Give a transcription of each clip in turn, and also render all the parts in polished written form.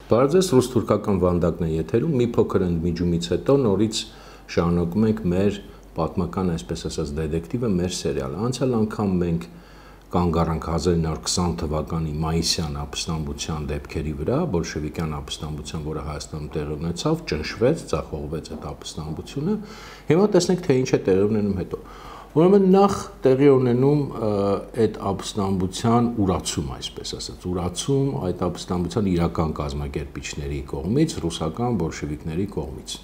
Բարև ռուս-թուրքական վանդակն է եթերում, մի փոքր ընդմիջումից հետո նորից շարունակում ենք մեր պատմական, այսպես ասած, դետեկտիվը, մեր սերիալը։ Անցյալ անգամ մենք կանգ առանք 1920 թվականի մայիսյան ապստամբության դեպքերի վրա, բոլշևիկյան ապստամբության, որը Հայաստանում տեղի ունեցավ, ճնշվեց, ձախողվեց այդ ապստամբությունը։ Հիմա տեսնենք, թե ինչ է տեղի ունենում հետո։ Ուրեմն նախ տեղի ունենում այդ ապստամբության ուրացում, այսպես ասած, ուրացում այդ ապստամբության իրական կազմակերպիչների կողմից, ռուսական բոլշևիկների կողմից։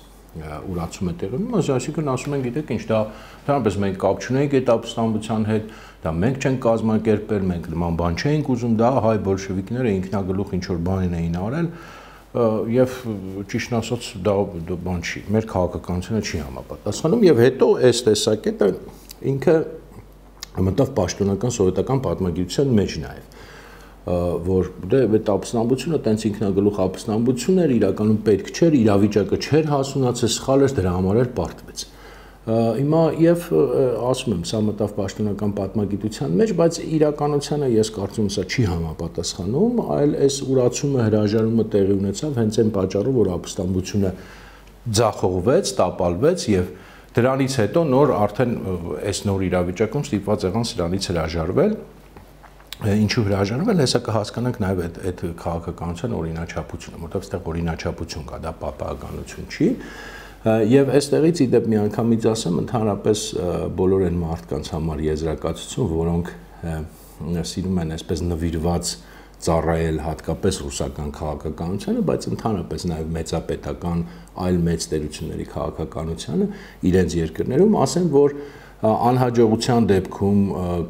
Ուրացում է տեղի ունենում, այսինքն ասում են, գիտեք ինչ, դա ընդհանրապես մենք կապ չունենք այդ ապստամբության հետ, դա մենք չենք կազմակերպել, մենք նման բան չենք ուզում, դա հայ բոլշևիկները ինքնագլուխ ինչ որ բան էին արել, եւ ճիշտն ասած դա բան չի, մեր քաղաքականությունը չի համապատասխանում, եւ հետո այս տեսակետը ինքը մտավ պաշտոնական սովետական պատմագիտության մեջ նաեւ, որ դե այդ ապստամբությունը տենց ինքնագլուխ ապստամբություն էր, իրականում պետք չէր, իրավիճակը չէր հասունացել, սխալ էր, դրա համար էլ պարտվեց։ Հիմա եւ ասում եմ, սա մտավ պաշտոնական պատմագիտության մեջ, բայց իրականությանը ես կարծում եմ սա չի համապատասխանում, այլ այս ուրացումը, հրաժարումը տեղի ունեցավ հենց այն պատճառով, որ ապստամբությունը ձախողվեց, տապալվեց եւ դրանից հետո նոր արդեն այս նոր իրավիճակում ստիպված եղան սրանից հրաժարվել։ Ինչու հրաժարվել, հեսա կհասկանանք նաև այդ քաղաքականության օրինաչափությունը, որտեղ այստեղ օրինաչափություն կա, դա պատահականություն չի։ Եվ այստեղից իդեպ միանգամից ասեմ, ընդհանրապես բոլոր այն մարդկանց համար եզրակացություն, որոնք սիրում են այսպես նվիրված ծառայել հատկապես ռուսական քաղաքականությանը, բայց ընդհանրապես նաև մեծապետական այլ մեծ տերությունների քաղաքականությանը իրենց երկրներում, ասեմ, որ անհաջողության դեպքում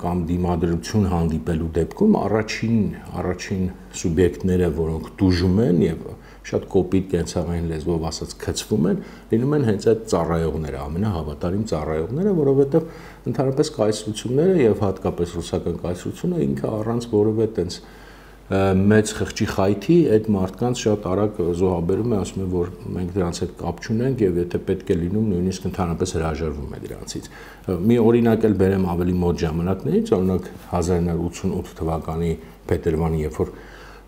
կամ դիմադրություն հանդիպելու դեպքում առաջին սուբյեկտները, որոնք տուժում են եւ շատ կոպիտ կենցաղային լեզվով ասած քծվում են, լինում են հենց այդ ծառայողները, ամենահավատարիմ ծառայողները, որովհետեւ ընդհանրապես կայսրությունները եւ հատկապես ռուսական կայսրությունը ինքը առանց որևէ տենց մեծ խղճի խայթի այդ մարդկանց շատ արագ զոհաբերում է, ասում է, որ մենք դրանց հետ կապ չունենք եւ եթե պետք է լինում, նույնիսկ ընդհանրապես հրաժարվում է դրանցից։ Մի օրինակ էլ բերեմ ավելի մոտ ժամանակներից, օրինակ 1988 թվականի փետրվարին, երբ որ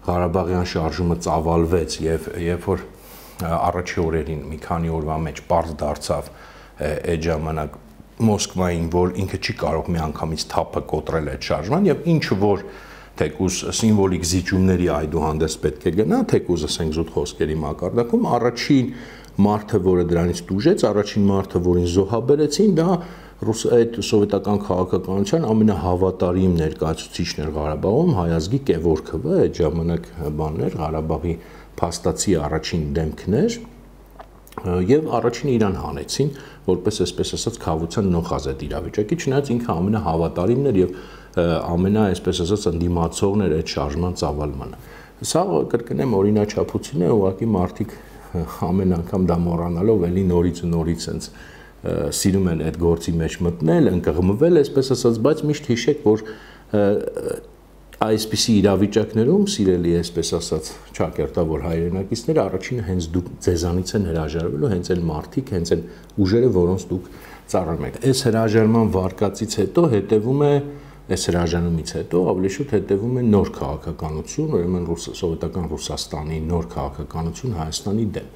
Ղարաբաղյան շարժումը ծավալվեց եւ երբ որ առաջի օրերին մի քանի օրվա մեջ պարզ դարձավ այդ ժամանակ Մոսկվային, որ ինքը չի կարող միանգամից թափը կոտրել այդ շարժման եւ ինչ որ թեկուզ սիմվոլիկ զիջումների այդուհանդես պետք է գնա, թեկուզ ասենք զուտ խոսքերի մակարդակում, առաջին մարդը, որը դրանից տուժեց, առաջին մարդը, որին զոհաբերեցին, դա այդ սովետական քաղաքականության ամենահավատարիմ ներկայացուցիչն էր Ղարաբաղում, հայազգի Կևորքովը, այդ ժամանակ բաններ, Ղարաբաղի փաստացի առաջին դեմքն էր, եւ առաջինը իրան հանեցին, որպես այսպես ասած խավության նոխազ այդ իրավիճակի, չնայած ինքը ամենահավատարիմն էր եւ այսպես ասած ընդդիմացողն էր այդ շարժման ծավալմանը։ Սա կրկնեմ օրինաչափություն է, ուղղակի մարդիկ ամեն անգամ դա մոռանալով էլի նորից ու նորից sense սիրում են այդ գործի մեջ մտնել, ընկղմվել, այսպես ասած, բայց միշտ հիշեք, որ այսպիսի իրավիճակներում սիրելի այսպես ասած ճակերտավոր հայրենակիցները առաջինը հենց դուք ձեզանից են հրաժարվելու, հենց այն մարդիկ, հենց այն ուժերը, որոնց դուք ծառայում եք։ Այս հրաժարման վարկածից հետո հետևում է այս հրաժարումից հետո ավելի շուտ հետևում է նոր քաղաքականություն, ուրեմն սովետական Ռուսաստանի նոր քաղաքականություն Հայաստանի դեմ։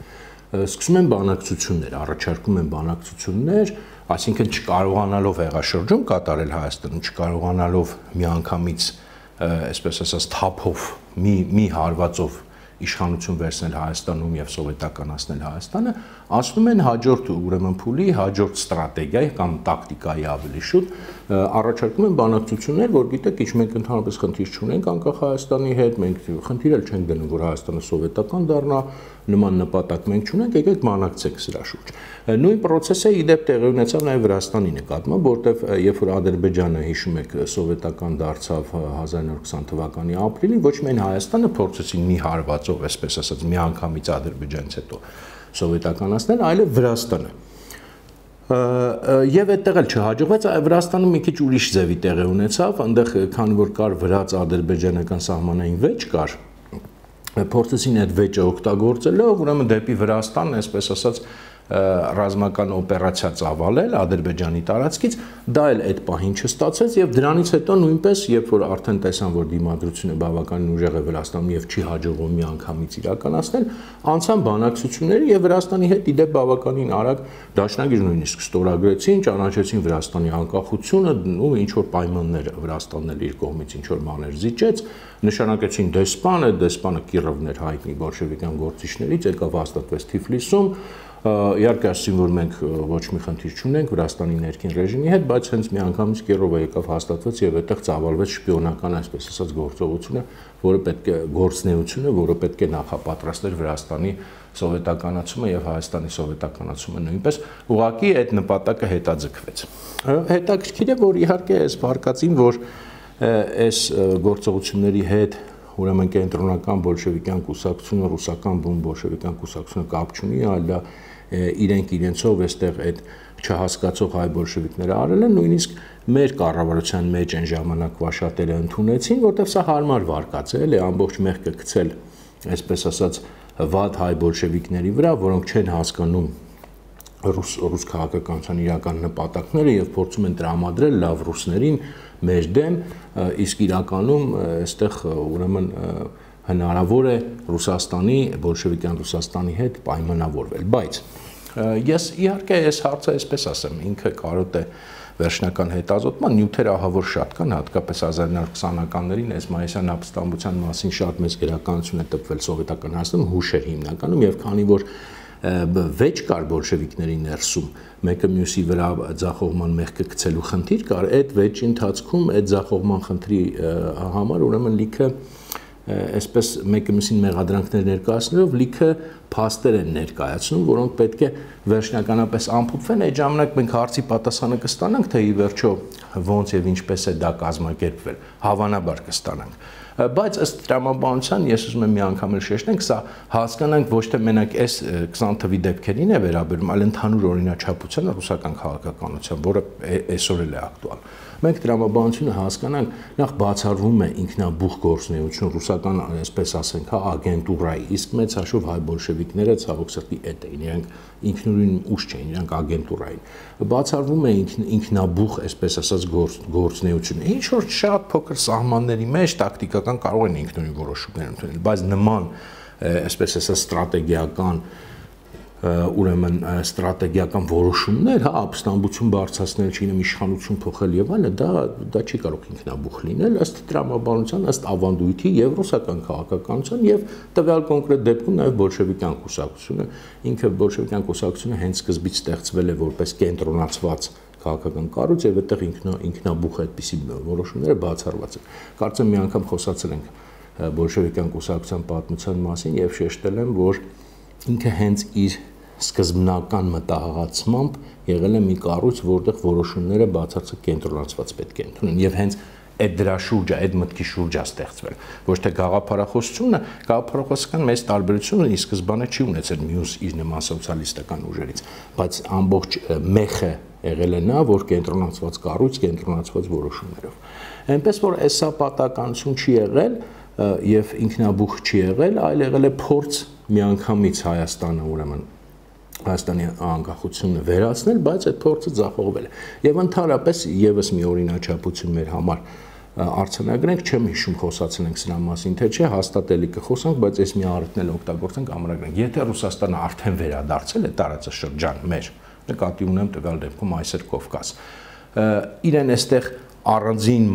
Սկսում են բանակցություններ, առաջարկում են բանակցություններ, այսինքն չկարողանալով հեղաշրջում կատարել Հայաստանում, չկարողանալով միանգամից այսպես ասած թափով մի հարվածով իշխանություն վերցնել Հայաստանում եւ սովետականացնել Հայաստանը, ասում են հաջորդ ուրեմն փուլի, հաջորդ ստրատեգիայի կամ տակտիկայի ավելի շուտ առաջարկում են բանակցություններ, որ գիտեք, ինչ մենք ընդհանրապես խնդիր չունենք անկախ Հայաստանի հետ, մենք խնդիր էլ չենք դնում, որ Հայաստանը սովետական դառնա, նման նպատակ մենք չունենք, եկեք բանակցենք սրա շուրջ։ Նույն process-ը իդեպ տեղի ունեցավ նաեւ Վրաստանի նկատմամբ, որտեղ երբ որ Ադրբեջանը հիշում եք սովետական դարձավ 1920 թվականի ապրիլին, ոչ միայն Հայաստանը փորձեցին մի հարվածով, այսպես ասած, միանգամից Ադրբեջանից հետո սովետականացնել, այլև Վրաստանը։ Եվ այդտեղ էլ չհաջողվեց, Վրաստանում մի քիչ ուրիշ ձևի տեղի ունեցավ, այնտեղ քանի որ կար վրաց-ադրբեջանական սահմանային վեճ կար, փորձեցին այդ վեճը օգտագործելով, ուրեմն դեպի Վրաստան, այսպես ասած, ռազմական օպերացիա ծավալել Ադրբեջանի տարածքից, դա էլ այդ պահին չստացեց եւ դրանից հետո նույնպես, երբ որ արդեն տեսան, որ դիմադրությունը բավականին ուժեղ է Վրաստանում եւ չի հաջողվում միանգամից իրականացնել, անցան բանակցությունների եւ Վրաստանի հետ իդեպ բավականին արագ դաշնագիր նույնիսկ ստորագրեցին, ճանաչեցին Վրաստանի անկախությունը ու ինչ որ պայմաններ Վրաստանն էլ իր կողմից ինչ որ մաներ զիջեց, նշանակեցին դեսպանը Կիրովն էր հայտնի բոլշևիկյան գործիչներից, եկավ հաստատվեց Թիֆլիսում, իհարկե ասում որ մենք ոչ մի խնդիր չունենք Վրաստանի ներքին ռեժիմի հետ, բայց հենց միանգամից Կիրովը եկավ հաստատվեց եւ այդտեղ ծավալվեց շպիոնական, այսպես ասած, գործողությունը, որը պետք է գործնեությունը, որը պետք է նախապատրաստեր Վրաստանի սովետականացումը եւ Հայաստանի սովետականացումը նույնպես, ուղղակի այդ նպատակը հետաձգվեց։ Հետաքրքիր է, որ իհարկե այս վարկածին, որ այս գործողությունների հետ ուրեմն կենտրոնական բոլշևիկյան կուսակցությունը, ռուսական բուն բոլշևիկյան կուսակցությունը կապ չունի, այլ դա իրենք իրենցով այստեղ այդ չհասկացող հայ բոլշևիկները արել են, նույնիսկ մեր կառավարության մեջ այն ժամանակվա շատերը ընդունեցին, որտեղ սա հարմար վարկած է, էլի ամբողջ մեղքը գցել, այսպես ասած, վատ հայ բոլշևիկների վրա, որոնք չեն հասկանում ռուս քաղաքականության իրական նպատակները եւ փորձում են տրամադրել լավ ռուսներին մեր դեմ, իսկ իրականում այստեղ ուրեմն հնարավոր է Ռուսաստանի, բոլշևիկյան Ռուսաստանի հետ պայմանավորվել, բայց ես իհարկե այս հարցը այսպես ասեմ, ինքը կարոտ է վերջնական հետազոտման, նյութեր ահավոր շատ կան, հատկապես 1920-ականներին այս մայիսյան ապստամբության մասին շատ մեծ գրականություն է տպվել սովետական Հայաստանում, հուշեր հիմնականում եւ քանի որ վեճ կար բոլշևիկների ներսում, մեկը մյուսի վրա ձախողման մեղքը գցելու խնդիր կար, այդ վեճի ընթացքում այդ ձախողման խնդրի համար ուրեմն լիքը այսպես մեկը մյուսին մեղադրանքներ ներկայացնելով լիքը փաստեր են ներկայացնում, որոնք պետք է վերջնականապես ամփոփվեն, այդ ժամանակ մենք հարցի պատասխանը կստանանք, թե ի վերջո ոնց եւ ինչպես է դա կազմակերպվել, հավանաբար կստանանք։ Բայց ըստ տրամաբանության ես ուզում եմ մի անգամ էլ շեշտենք, սա հասկանանք ոչ թե մենակ այս 20 թվի դեպքերին է վերաբերում, այլ ընդհանուր օրինաչափությանը ռուսական քաղաքականության, որը այսօր էլ է ակտուալ։ Մենք տրամաբանությունը հասկանանք, նախ բացառվում է ինքնաբուխ գործունեություն ռուսական, այսպես ասենք, ագենտուրայի, իսկ մեծ հաշվով հայ բոլշևիկները ցավոք սրտի էդ էին, իրենք ինքնուրույն ուժ չէին, իրենք ագենտուրային։ Բացառվում է ինքնաբուխ, այսպես ասած, գործունեությունը։ Ինչ որ շատ փոքր սահմանների մեջ տակտիկական կարող են ինքնուրույն որոշումներ ընդունել, բայց նման, այսպես ասած, ստրատեգիական ուրեմն ստրատեգիական որոշումներ, հա, ապստամբություն բարձրացնել, չինեմ իշխանություն փոխել եւ այլն, դա չի կարող ինքնաբուխ լինել, ըստ տրամաբանության, ըստ ավանդույթի եւ ռուսական քաղաքականության եւ տվյալ կոնկրետ դեպքում նաեւ բոլշևիկյան կուսակցությունը, ինքը բոլշևիկյան կուսակցությունը հենց սկզբից ստեղծվել է որպես կենտրոնացված քաղաքական կառույց եւ այդտեղ ինքնաբուխ այդպիսի որոշումները բացառված են։ Կարծեմ մի անգամ խոսացել ենք բոլշևիկյան կուսակցության պատմության մասին եւ շեշտել եմ, որ ինքը հենց իր սկզբնական մտահղացմամբ եղել է մի կառույց, որտեղ որոշումները բացարձակ կենտրոնացված պետք է ընդունեն եւ հենց այդ դրա շուրջը, այդ մտքի շուրջը ստեղծվել։ Ոչ թե գաղափարախոսությունը, գաղափարախոսական մեծ տարբերությունը ի սկզբանե չի ունեցել մյուս իր նման սոցիալիստական ուժերից, բայց ամբողջ մեխը եղել է նա, որ կենտրոնացված կառույց, կենտրոնացված որոշումներով։ Այնպես որ այսա պատականություն չի եղել եւ ինքնաբուխ չի եղել, այլ եղել է փորձ միանգամից Հայաստանը ուրեմն Հայաստանի անկախությունը վերացնել, բայց այդ փորձը ձախողվել է։ Եվ ընդհանրապես եւս մի օրինաչափություն մեր համար արձանագրենք, չեմ հիշում խոսացել ենք սրա մասին, թե չէ, հաստատելի կխոսանք, բայց այս մի առիթն էլ օգտագործենք, ամրագրենք։ Եթե Ռուսաստանը արդեն վերադարձել է տարածաշրջան մեր, նկատի ունեմ տվյալ դեպքում այսօր Կովկաս, իրեն այստեղ առանձին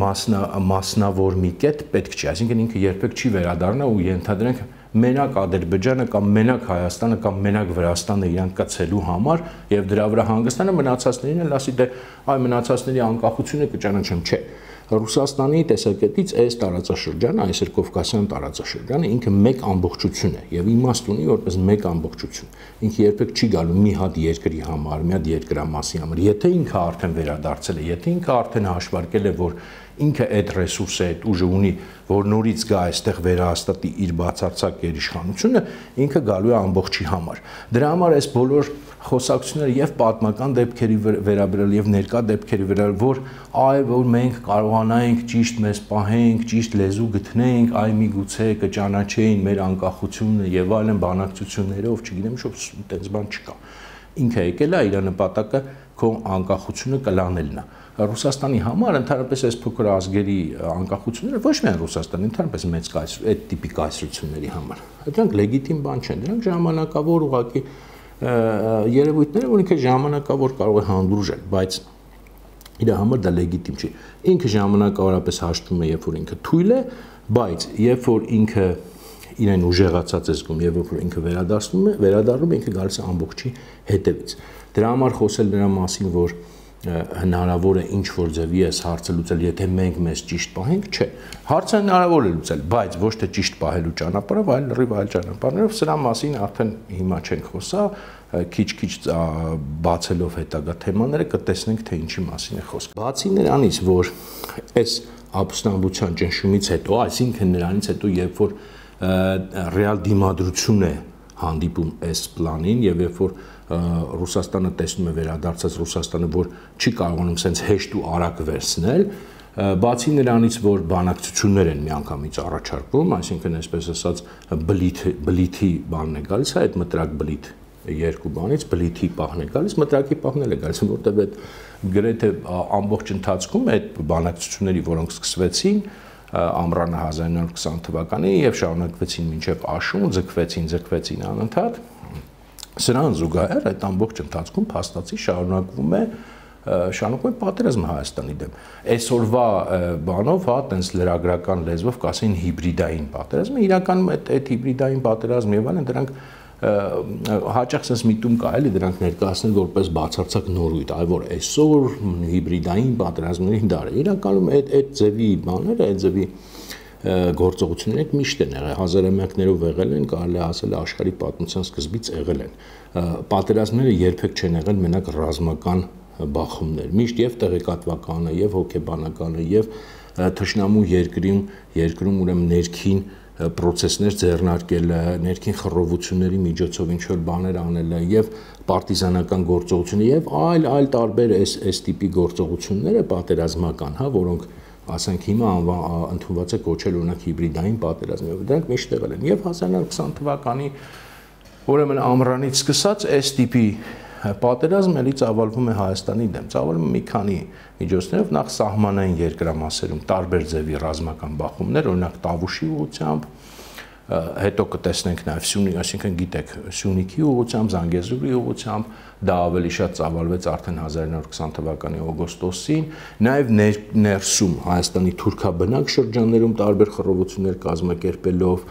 մասնավոր մի կետ պետք չի, այսինքն ինքը երբեք չի վերադառնա ու ենթադրենք մենակ Ադրբեջանը կամ մենակ Հայաստանը կամ մենակ Վրաստանը իրանք կցելու համար եւ դրա վրա հանգստանը մնացածներին էլ ասի դե այ մնացածների անկախությունը կճանաչեմ, չէ։ Ռուսաստանի տեսակետից այս տարածաշրջանը, այսօր Կովկասյան տարածաշրջանը ինքը մեկ ամբողջություն է եւ իմաստ ունի որպես մեկ ամբողջություն։ Ինքը երբեք չի գալու մի հատ երկրի համար, մի հատ երկրամասի համար։ Եթե ինքը արդեն վերադարձել է, եթե ինքը արդեն հաշվարկել է, որ ինքը այդ ռեսուրսը, այդ ուժը ունի, որ նորից գա այստեղ վերահաստատի իր բացարձակ գերիշխանությունը, ինքը գալու է ամբողջի համար։ Դրա համար այս բոլոր խոսակցությունները եւ պատմական դեպքերի վերաբերյալ եւ ներկա դեպքերի վերաբերյալ, որ այ որ մենք կարողանայինք ճիշտ մեզ պահենք, ճիշտ լեզու գտնենք, այ միգուցե կճանաչեին մեր անկախությունը եւ այլն բանակցություններով, չգիտեմ, շուտ այդպես բան չկա։ ինքը եկել է իր նպատակը քո անկախությունը կլանելն է։ Ռուսաստանի համար ընդհանրապես այս փոքր ազգերի անկախությունները ոչ միայն Ռուսաստանի, ընդհանրապես մեծ այդ տիպի կայսրությունների համար։ Դրանք լեգիտիմ բան չեն, դրանք ժամանակավոր ուղղակի երևույթներ, որ ինքը ժամանակավոր կարող է հանդուրժել, բայց իր համար դա լեգիտիմ չի։ Ինքը ժամանակավորապես հաշտվում է, երբ որ ինքը թույլ է, բայց երբ որ ինքը իրեն ուժեղացած է զգում եւ երբ որ ինքը վերադառնում է, ինքը գալիս է ամբողջի հետևից։ Դրա համար խոսել նրա մասին, որ հնարավոր է ինչ որ ձևի այս հարցը լուծել, եթե մենք մեզ ճիշտ պահենք, չէ։ Հարցը հնարավոր է լուծել, բայց ոչ թե ճիշտ պահելու ճանապարհով, այլ լրիվ այլ ճանապարհներով, սրա մասին արդեն հիմա չենք խոսա, քիչ-քիչ բացելով հետագա թեմաները կտեսնենք, թե ինչի մասին է խոսքը։ Բացի նրանից, որ այս ապստամբության ճնշումից հետո, այսինքն նրանից հետո, երբ որ ռեալ դիմադրություն է հանդիպում այս պլանին եւ երբ որ Ռուսաստանը տեսնում է վերադարձած Ռուսաստանը, որ չի կարողանում սենց հեշտ ու արագ վերցնել, բացի նրանից, որ բանակցություններ են միանգամից առաջարկվում, այսինքն այսպես ասած բլիթի բանն է գալիս, այդ մտրակ բլիթ երկու բանից բլիթի պահն է գալիս, մտրակի պահն է գալիս, որտեղ այդ գրեթե ամբողջ ընթացքում այդ բանակցությունների, որոնք սկսվեցին ամռանը 1920 թվականին եւ շարունակվեցին մինչեւ աշուն, ձգվեցին անընդհատ։ Սրան զուգահեռ այդ ամբողջ ընթացքում փաստացի շարունակվում է պատերազմը Հայաստանի դեմ։ Այսօրվա բանով, հա, տենց լրագրական լեզվով կասեն հիբրիդային պատերազմ, իրականում այդ հիբրիդային պատերազմ եւ այլն դրանք հաճախ sense միտում կա էլի դրանք ներկայացնել որպես բացարձակ նորույթ, այլ որ այսօր հիբրիդային պատերազմների դար է։ Իրականում այդ ձևի բաները, այդ ձևի գործողությունները միշտ են եղել, հազարամյակներով եղել են, կարելի է ասել աշխարհի պատմության սկզբից եղել են։ Պատերազմները երբեք չեն եղել մենակ ռազմական բախումներ, միշտ եւ տեղեկատվականը, եւ հոգեբանականը, եւ թշնամու երկրում ուրեմն ներքին պրոցեսներ ձեռնարկելը, ներքին խռովությունների միջոցով ինչ որ բաներ անելը եւ պարտիզանական գործողությունները եւ այլ տարբեր այս տիպի գործողությունները պատերազմական, հա, որոնք ասենք հիմա ընդունված է կոչել օրինակ հիբրիդային պատերազմ, դրանք միշտ եղել են եւ 1920 թվականի ուրեմն ամռանից սկսած այս տիպի պատերազմ էլի ծավալվում է Հայաստանի դեմ, ծավալվում է մի քանի միջոցներով, նախ սահմանային երկրամասերում տարբեր ձևի ռազմական բախումներ, օրինակ Տավուշի ուղղությամբ, հետո կտեսնենք նաև Սյունիքի, այսինքն գիտեք, Սյունիքի ուղղությամբ, Զանգեզուրի ուղղությամբ, դա ավելի շատ ծավալվեց արդեն 1920 թվականի օգոստոսին, նաև ներսում Հայաստանի թուրքաբնակ շրջաններում տարբեր խռովություններ կազմակերպելով,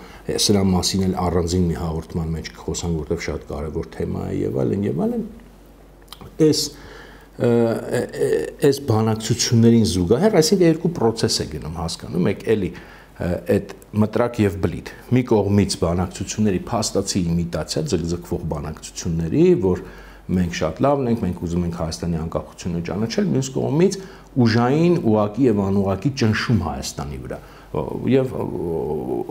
սրա մասին էլ առանձին մի հաղորդման մեջ կխոսանք, որտեղ շատ կարևոր թեմա է եւ այլն, այս բանակցություններին զուգահեռ, այսինքն երկու պրոցես է գնում, հասկանում եք, էլի այդ մտրակ եւ բլիթ մի կողմից բանակցությունների փաստացի իմիտացիա, ձգձգվող բանակցությունների, որ մենք շատ լավն ենք, մենք ուզում ենք Հայաստանի անկախությունը ճանաչել, մյուս կողմից ուժային, ուղակի եւ անուղակի ճնշում Հայաստանի վրա եւ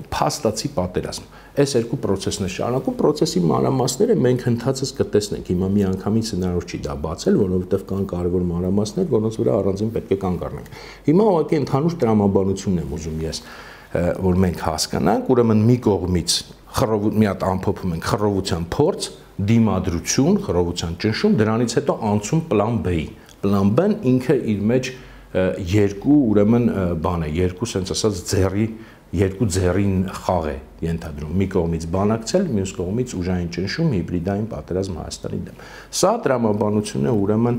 փաստացի պատերազմ։ Այս երկու պրոցեսն է շարունակում, պրոցեսի մանրամասները մենք ընդհանրապես կտեսնենք։ Հիմա մի անգամից հնարավոր չի դա բացել, որովհետեւ կան կարևոր մանրամասներ, որոնց վրա առանձին պետք է կանգ առնենք։ Հիմա ուղղակի ընդհանուր տրամաբանությունն եմ ուզում ես, որ մենք հասկանանք, ուրեմն մի կողմից մի հատ ամփոփում ենք խռովության փորձ, դիմադրություն, խռովության ճնշում, դրանից հետո անցում պլան B-ի։ Պլան B-ն ինքը իր մեջ երկու ուրեմն բան է, երկու sense ասած երկու ձեռին խաղ է ենթադրում։ Մի կողմից բանակցել, մյուս կողմից ուժային ճնշում, հիբրիդային պատերազմ Հայաստանի դեմ։ Սա տրամաբանությունն է ուրեմն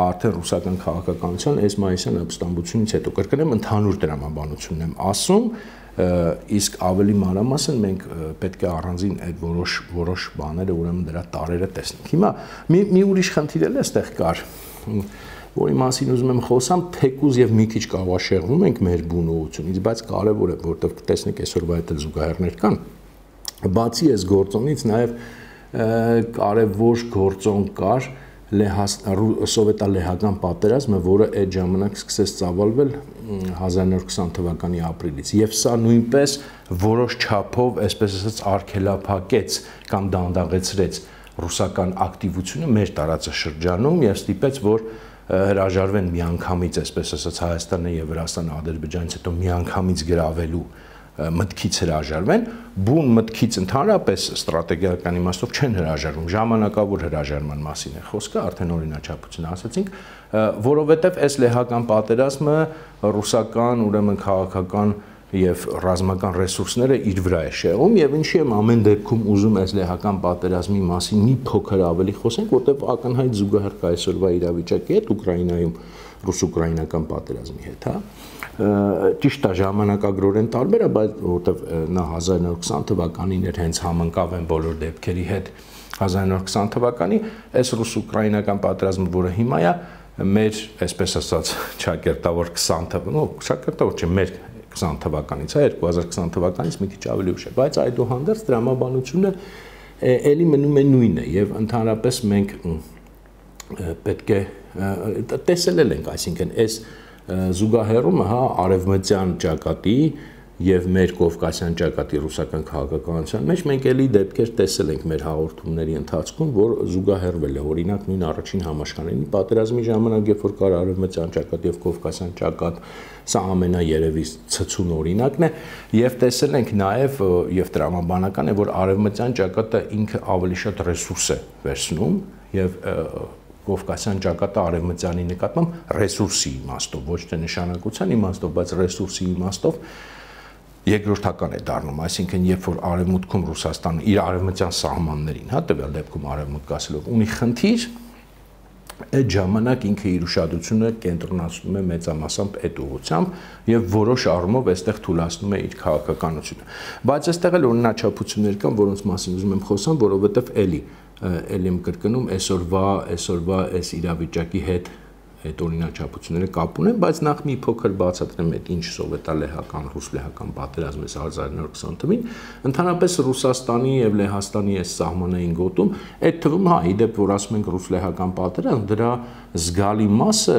արդեն ռուսական քաղաքականության այս մայիսյան ապստամբությունից հետո կրկնեմ ընդհանուր տրամաբանությունն եմ ասում, իսկ ավելի մանրամասն մենք պետք է առանձին այդ որոշ բաները ուրեմն դրա տարերը տեսնենք։ Հիմա մի ուրիշ խնդիր էլ էստեղ կար, որի մասին ուզում եմ խոսամ, թեկուզ եւ մի քիչ կավաշեղվում ենք մեր բուն ուղությունից, բայց կարեւոր է, որտեղ կտեսնեք այսօրվա այդ զուգահեռներ կան։ Բացի այս գործոնից նաեւ կարեւոր գործոն կար սովետա-լեհական պատերազմը, որը այդ ժամանակ սկսեց ծավալվել 1920 թվականի ապրիլից, եւ սա նույնպես որոշ չափով, այսպես ասած, արգելափակեց կամ դանդաղեցրեց ռուսական ակտիվությունը մեր տարածաշրջանում եւ ստիպեց, որ հրաժարվեն միանգամից, այսպես ասած, Հայաստանը եւ Վրաստանը Ադրբեջանից հետո միանգամից գրավելու մտքից հրաժարվեն, բուն մտքից ընդհանրապես ստրատեգիական իմաստով չեն հրաժարվում, ժամանակավոր հրաժարման մասին է խոսքը, արդեն օրինաչափություն ասացինք, որովհետև այս լեհական պատերազմը ռուսական, ուրեմն քաղաքական եւ ռազմական ռեսուրսները իր վրա է շեղում եւ ինչի եմ ամեն դեպքում ուզում այս լեհական պատերազմի մասին մի փոքր ավելի խոսենք, որտեղ ակնհայտ զուգահեռ կա այսօրվա իրավիճակի հետ Ուկրաինայում ռուս-ուկրաինական պատերազմի հետ, հա։ Ճիշտ է ժամանակագրորեն տարբեր է, բայց որտեղ նա 1920 թվականին էր հենց համընկավ են բոլոր դեպքերի հետ 1920 թվականի, այս ռուս-ուկրաինական պատերազմը, որը հիմա է, մեր, այսպես ասած, ճակերտավոր 20 թվականին, ճակերտավոր չէ, մեր 20 թվականից, հա, 2020 թվականից մի քիչ ավելի ուշ է, բայց այդուհանդերձ դրամաբանությունը էլի մնում է նույնը եւ ընդհանրապես մենք պետք է տեսել ենք, այսինքն այս զուգահեռումը, հա, արևմտյան ճակատի եւ մեր կովկասյան ճակատի ռուսական քաղաքականության մեջ մենք էլի դեպքեր տեսել ենք մեր հաղորդումների ընթացքում, որ զուգահեռվել է, օրինակ նույն առաջին համաշխարհային պատերազմի ժամանակ, երբ որ կար արևմտյան ճակատ եւ կովկասյան ճակատ, սա ամենաերևի ցցուն օրինակն է, եւ տեսել ենք նաեւ եւ տրամաբանական է, որ արևմտյան ճակատը ինքը ավելի շատ ռեսուրս է վերցնում եւ Կովկասյան ճակատը արևմտյանի նկատմամբ ռեսուրսի իմաստով, ոչ թե նշանակության իմաստով, բայց ռեսուրսի իմաստով երկրորդական է դառնում, այսինքն երբ որ արևմուտքում Ռուսաստանը իր արևմտյան սահմաններին, հա, տվյալ դեպքում արևմուտք ասելով ունի խնդիր, այդ ժամանակ ինքը իր ուշադրությունը կենտրոնացնում է մեծամասամբ այդ ուղղությամբ եւ որոշ առումով այստեղ թույլատնում է իր քաղաքականությունը։ Բայց այստեղ էլ օրինաչափություններ կան, որոնց մասին ուզում եմ խոսամ, որովհետեւ էլի եմ կրկնում այսօրվա այս իրավիճակի հետ այդ օրինաչափությունները կապ ունեն, բայց նախ մի փոքր բացատրեմ այդ ինչ սովետալեհական, ռուս-լեհական պատերազմը 1920 թվականին, ընդհանրապես Ռուսաստանի եւ Լեհաստանի այս սահմանային գոտում, այդ թվում, հա, իդեպ որ ասում ենք ռուս-լեհական պատերազմ, դրա զգալի մասը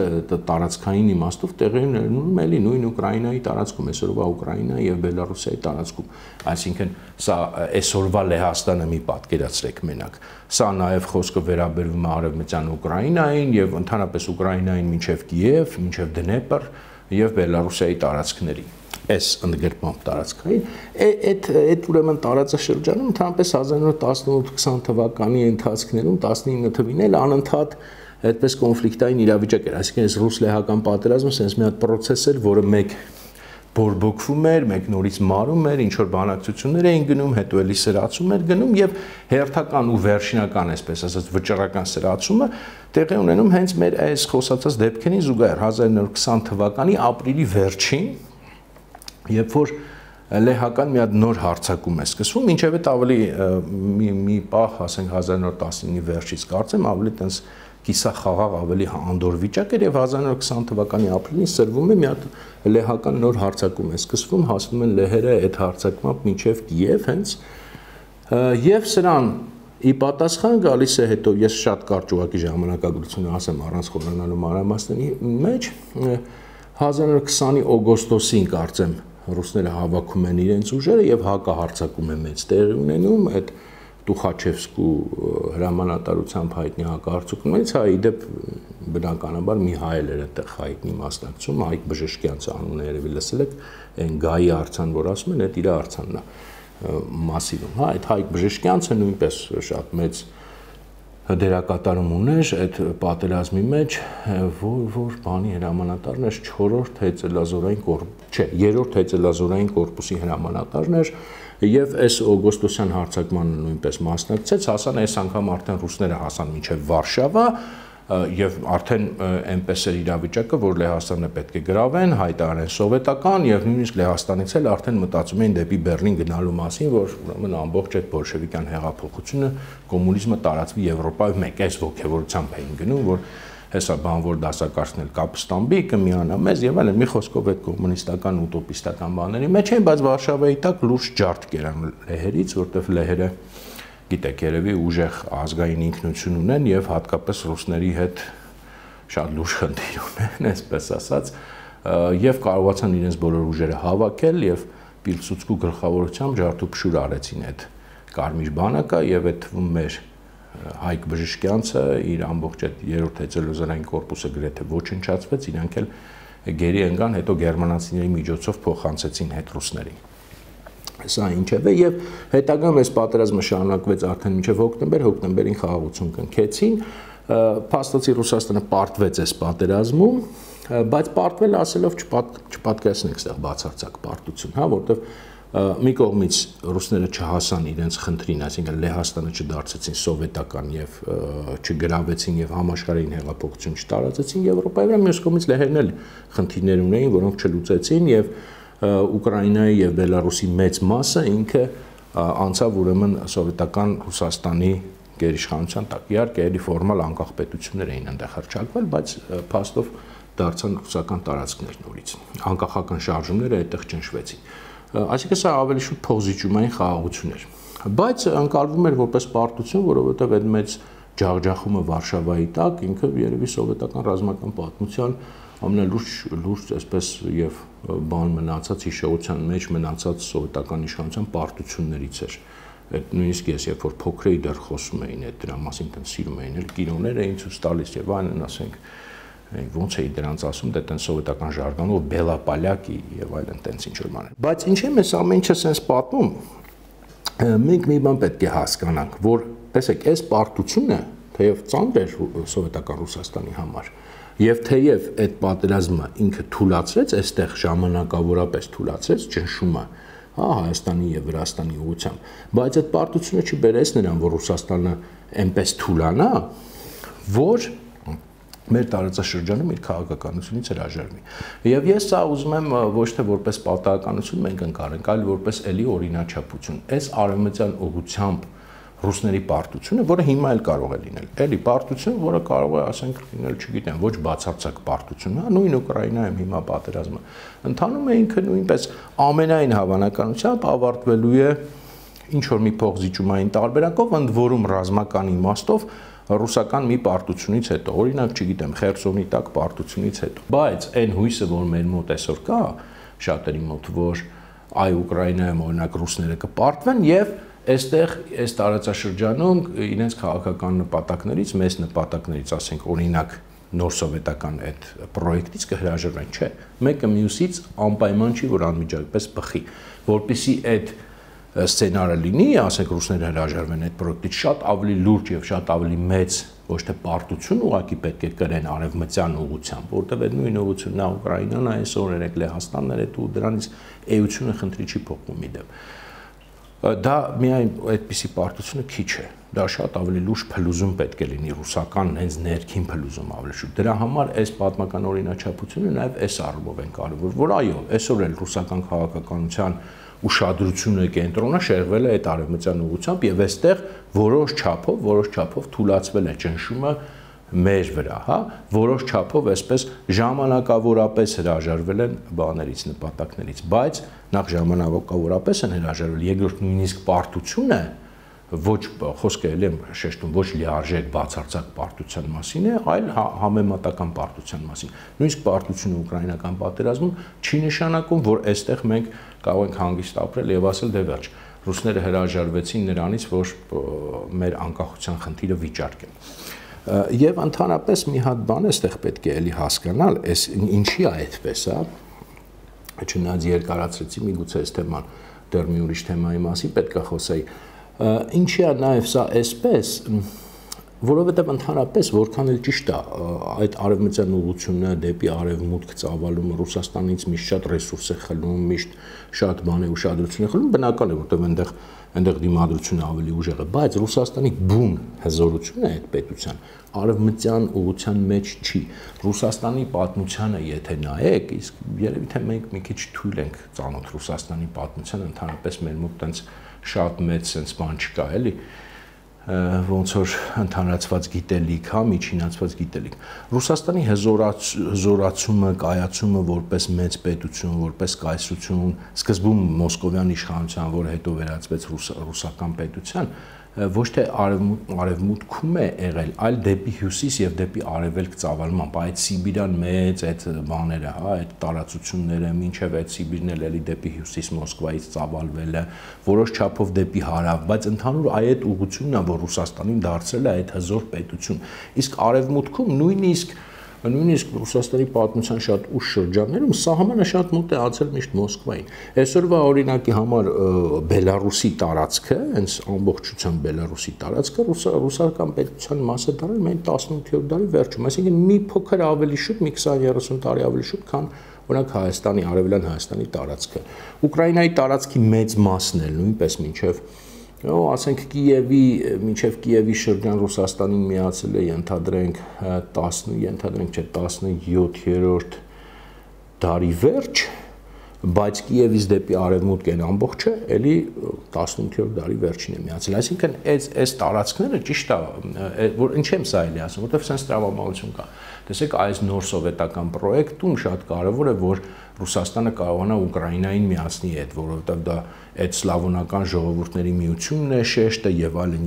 տարածքային իմաստով տեղի ունենում էլի նույն Ուկրաինայի տարածքում, այսօրվա Ուկրաինայի եւ Բելարուսիայի տարածքում, այսինքն սա այսօրվա Լեհաստանը մի պատկերացրեք մենակ, սա նաեւ խոսքը վերաբերվում է արևմտյան Ուկրաինային եւ ընդհանրապես Ուկրաինային մինչեւ Կիև, մինչեւ Դնեպր եւ Բելարուսիայի տարածքներին, այս ընդգրկման տարածքային, այդ ուրեմն տարածաշրջանում ընդհանրապես 1918-20 թվականի ընթացքներում 19 թվին էլ անընդհատ այդպես կոնֆլիկտային իրավիճակ էր, այսինքն այս ռուս-լեհական պատերազմը sense մի հատ process էր, որը մեկ բորբոքվում էր, մեկ նորից մարում էր, ինչ որ բանակցություններ էին գնում, հետո էլի սրացում էր գնում եւ հերթական ու վերջինական, այսպես ասած, վճռական սրացումը տեղի ունենում հենց մեր այս խոսացած դեպքերին զուգահեռ 1920 թվականի ապրիլի վերջին, երբ որ լեհական մի հատ նոր հարձակում է սկսվում, ինչև այդ ավելի մի պահ, ասենք 1919-ի վերջից կարծեմ, ավելի տենց կիսախաղաղ ավելի անդոր վիճակ էր եւ 1920 թվականի ապրիլին սրվում է մի հատ լեհական նոր հարձակում է սկսվում, հասնում են լեհերը այդ հարձակմամբ մինչեւ Կիև հենց եւ սրան ի պատասխան գալիս է հետո ես շատ կարճ ուղղակի ժամանակագրությունը ասեմ առանց խորանալու մանրամասների մեջ 1920-ի օգոստոսին կարծեմ ռուսները հավաքում են իրենց ուժերը եւ հակահարձակում է մեծ տեղի ունենում այդ Տուխաչևսկու հրամանատարությամբ հայտնի հակահարձակումներից, հա, իդեպ բնականաբար մի հայ էր այդտեղ հայտնի մասնակցում, Հայկ Բժշկյանցը անունը երևի լսել եք, այն Գայի արձան, որ ասում են, այդ իր արձանն է մասիվում, հա, այդ Հայկ Բժշկյանցը նույնպես շատ մեծ դերակատարում ուներ այդ պատերազմի մեջ, որ բանի հրամանատարն էր 4-րդ հեծելազորային կորպուսի, չէ, 3-րդ հեծելազորային կորպուսի հրամանատարն էր եւ այս օգոստոսյան հարձակմանը նույնպես մասնակցեց, հասան այս անգամ արդեն ռուսները հասան մինչեւ Վարշավա եւ արդեն այնպես էր իրավիճակը, որ Լեհաստանը պետք է գրավեն, հայտարարեն սովետական եւ նույնիսկ Լեհաստանից էլ արդեն մտածում էին դեպի Բեռլին գնալու մասին, որ ուրեմն ամբողջ այդ բոլշևիկյան հեղափոխությունը, կոմունիզմը տարածվի Եվրոպայում, մեկ այս ողջավորությամբ էին գնում, որ հեսա բանվոր դասակարգն էլ կապստամբի կմիանա մեզ եւ այլն, մի խոսքով այդ կոմունիստական ուտոպիստական բաների մեջ են, բայց Վարշավայի տակ լուրջ ջարդ կերան լեհերից, որտեղ լեհերը գիտեք, երևի ուժեղ ազգային ինքնություն ունեն եւ հատկապես ռուսների հետ շատ լուրջ խնդիր ունեն, այսպես ասած, եւ կարողացան իրենց բոլոր ուժերը հավաքել եւ Պիլսուդսկու գլխավորությամբ ջարդուփշուր արեցին այդ Կարմիր բանակը եւ այդ թվում մեր Հայկ Բժշկյանցը իր ամբողջ այդ 3-րդ հեծելազորային կորպուսը գրեթե ոչնչացվեց, իրանք էլ գերի ընկան, հետո գերմանացիների միջոցով փոխանցեցին հետ ռուսներին։ Սա ինչև է եւ հետագայում այս պատերազմը շարունակվեց արդեն մինչև հոկտեմբերին խաղաղություն կնքեցին, փաստացի Ռուսաստանը պարտվեց այս պատերազմում, բայց պարտվել ասելով չպատկերացնենք այստեղ բացարձակ պարտություն, հա, որտեղ մի կողմից ռուսները չհասան իրենց խնդրին, այսինքն Լեհաստանը չդարձեցին սովետական եւ չգրավեցին եւ համաշխարհային հեղափոխություն չտարածեցին Եվրոպայի վրա, մյուս կողմից լեհերն էլ խնդիրներ ունեին, որոնք չլուծեցին եւ Ուկրաինայի եւ Բելարուսի մեծ մասը ինքը անցավ ուրեմն սովետական Ռուսաստանի գերիշխանության տակ։ Իհարկե, էլի ֆորմալ անկախ պետություններ էին այնտեղ հռչակվել, բայց փաստով դարձան ռուսական տարածքներ նորից։ Անկախական շարժումները այդտեղ ճնշվեցին։ Այսինքն սա ավելի շուտ փոխզիջումային խաղաղություն էր։ Բայց անցալվում էր որպես պարտություն, որովհետև այդ մեծ ջախջախումը Վարշավայի տակ ինքը երևի սովետական ռազմական պատմության ամենալուրջ այսպես եւ բան մնացած հիշողության մեջ մնացած սովետական իշխանության պարտություններից էր։ Այդ նույնիսկ ես երբ որ փոքր էի դեռ խոսում էին այդ դրա մասին, տեն սիրում էին, էլ կինոներ էին ցույց տալիս եւ այլն, ասենք ոնց էի դրանց ասում, դե տեն սովետական ժարգանով բելապալյակի եւ այլն տենց ինչ որ բաներ։ Բայց ինչի՞ մեզ ամեն ինչը sense պատմում, մենք մի բան պետք է հասկանանք, որ տեսեք, այս պարտությունը թեև ծանր էր սովետական Ռուսաստանի համար, եւ թեև այդ պատերազմը ինքը թուլացրեց, այստեղ ժամանակավորապես թուլացրեց ճնշումը, հա, Հայաստանի եւ Վրաստանի ուղղությամբ, բայց այդ պարտությունը չբերեց նրան, որ Ռուսաստանը այնպես թուլանա, որ մեր տարածաշրջանում իր քաղաքականությունից հրաժարվի։ Եվ ես սա ուզում եմ ոչ թե որպես պատահականություն մենք ընկալենք, այլ որպես էլի օրինաչափություն։ Այս արևմտյան ուղղությամբ ռուսների պարտությունը, որը հիմա էլ կարող է լինել, էլի պարտություն, որը կարող է, ասենք, լինել, չգիտեմ, ոչ բացարձակ պարտություն, հա, նույն Ուկրաինայում հիմա պատերազմը ընթանում է, ինքը նույնպես ամենայն հավանականությամբ ավարտվելու է ինչ որ մի փոխզիջումային տարբերակով, ընդ որում ռազմական իմաստով ռուսական մի պարտությունից հետո, օրինակ, չգիտեմ, Խերսոնի տակ պարտությունից հետո։ Բայց այն հույսը, որ մեր մոտ այսօր կա, շատերի մոտ, որ այ Ուկրաինայում օրինակ ռուսները կպարտվեն եւ այստեղ այս տարածաշրջանում իրենց քաղաքական նպատակներից, մեծ նպատակներից, ասենք, օրինակ նոր սովետական այդ պրոյեկտից կհրաժարվեն, չէ։ Մեկը մյուսից անպայման չի, որ անմիջապես բխի, որպեսզի այդ սցենարը լինի, ասենք ռուսները հրաժարվեն այդ պրոյեկտից, շատ ավելի լուրջ եւ շատ ավելի մեծ ոչ թե պարտություն ուղղակի պետք է կրեն արևմտյան ուղղությամբ, որտեղ այդ նույն ուղղությունն է Ուկրաինան, այսօր երեք Լեհաստանն էր ու դրանից էությունը խնդրի չի փոխվում իդեպ։ Դա միայն այդպիսի պարտությունը քիչ է, դա շատ ավելի լուրջ փլուզում պետք է լինի ռուսական հենց ներքին փլուզում ավելի շուտ։ Դրա համար այս պատմական օրինաչափությունը նաև այս առումով են կարևոր, որ այո, այսօր էլ ռուսական քաղաքականության ուշադրությունը կենտրոնը շեղվել է այդ արևմտյան ուղղությամբ եւ այստեղ որոշ չափով թուլացվել է ճնշումը մեր վրա, հա, որոշ չափով այսպես ժամանակավորապես հրաժարվել են բաներից, նպատակներից, բայց նախ ժամանակավորապես են հրաժարվել, երկրորդ նույնիսկ պարտությունը ոչ խոսքը էլ եմ շեշտում, ոչ լիարժեք բացարձակ պարտության մասին է, այլ համեմատական պարտության մասին։ Նույնիսկ պարտությունը ուկրաինական պատերազմում չի նշանակում, որ այստեղ մենք կարող ենք հանգիստ ապրել եւ ասել դե վերջ, ռուսները հրաժարվեցին նրանից, որ մեր անկախության խնդիրը վիճարկեն։ Եվ ընդհանրապես մի հատ բան այստեղ պետք է էլի հասկանալ, այս ինչի է այդպես, հա։ Չնայած երկարացրեցի, միգուցե այս թեման դեռ մի ուրիշ թեմայի մասին պետք է խոսեի։ Ինչի է նաև սա այսպես, որովհետև ընդհանրապես որքան էլ ճիշտ է այդ արևմտյան ուղղությունը դեպի արևմուտք ծավալումը Ռուսաստանից միշտ շատ ռեսուրս է խլում, միշտ շատ բան է ուշադրություն է խլում, բնական է, որովհետև այնտեղ դիմադրությունը ավելի ուժեղ է, բայց Ռուսաստանի բուն հզորությունը այդ պետության արևմտյան ուղղության մեջ չի։ Ռուսաստանի պատմությանը եթե նայեք, իսկ երևի թե մենք մի քիչ թույլ ենք ծանոթ Ռուսաստանի պատմությանը, ընդհանրապես մեր մոտ տենց շատ մեծ sense բան չկա, էլի, ոնց որ ընդհանրացված գիտելիք, հա, միջինացված գիտելիք։ Ռուսաստանի հզորացումը, կայացումը որպես մեծ պետություն, որպես կայսրություն, սկզբում մոսկովյան իշխանության, որ հետո վերածվեց ռուսական պետության, ոչ թե արևմուտքում է եղել, այլ դեպի հյուսիս եւ դեպի արևելք ծավալմամբ, այդ Սիբիրյան մեծ այդ բաները, հա, այդ տարածությունները, մինչեւ այդ Սիբիրն էլի դեպի հյուսիս Մոսկվայից ծավալվել է, որոշ չափով դեպի հարավ, բայց ընդհանուր այդ ուղղությունն է, որ Ռուսաստանին դարձել է այդ հզոր պետություն։ Իսկ արևմուտքում նույնիսկ նույնիսկ Ռուսաստանի պատմության շատ ուշ շրջաններում սահմանը շատ մոտ է անցել միշտ Մոսկվային։ Այսօրվա օրինակի համար Բելարուսի տարածքը, հենց ամբողջությամբ Բելարուսի տարածքը ռուսական պետության մաս է դարձել միայն 18-րդ դարի վերջում, այսինքն մի փոքր ավելի շուտ, մի 20-30 տարի ավելի շուտ, քան օրինակ Հայաստանի, Արևելյան Հայաստանի տարածքը։ Ուկրաինայի տարածքի մեծ մասն էլ նույնպես ասենք մինչև Կիևի շրջան Ռուսաստանին միացել է ենթադրենք 17-րդ դարի վերջ, բայց Կիևից դեպի արևմուտք են ամբողջը էլի 18-րդ դարի վերջին է միացել։ Այսինքն այս տարածքները ճիշտ է, որ ինչ եմ սա էլի ասում, որտեղ sense տրամաբանություն կա։ Տեսեք, այս նոր սովետական պրոյեկտում շատ կարևոր է, որ Ռուսաստանը կարողանա Ուկրաինային միացնի հետ, որովհետև դա այդ սլավոնական ժողովուրդների միությունն է, շեշտը եւ այլն,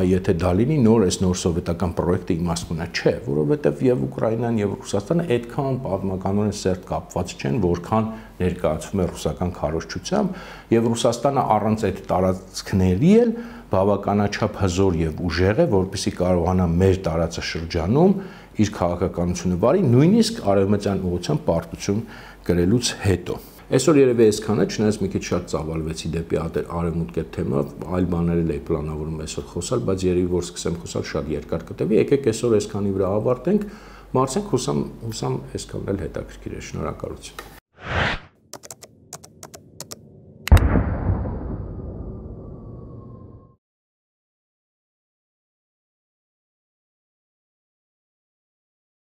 եթե դա լինի նոր սովետական պրոյեկտը իմաստնա չէ, որովհետև եւ Ուկրաինան եւ Ռուսաստանը այդքան պատմականորեն սերտ կապված չեն, որքան ներկայացվում է ռուսական քարոզչությամբ, եւ Ռուսաստանը առանց այդ տարածքների էլ բավականաչափ հզոր եւ ուժեղ է, որպեսզի կարողանա մեր տարածաշրջանում իր քաղաքականությունը վարի, նույնիսկ արևմտյան ուղղությամբ պարտություն գրելուց հետո։ Այսօր երևի այսքանը, չնայած մի քիչ շատ ծավալվեցի դեպի արևմուտք այդ թեմա, այլ բաներ էլ էի պլանավորում այսօր խոսալ, բայց երևի որ սկսեմ խոսալ շատ երկար կտևի, եկեք այսօր այսքանի վրա ավարտենք, մարսենք, հուսամ այսքանն էլ հետաքրքիր է, շնորհակալություն։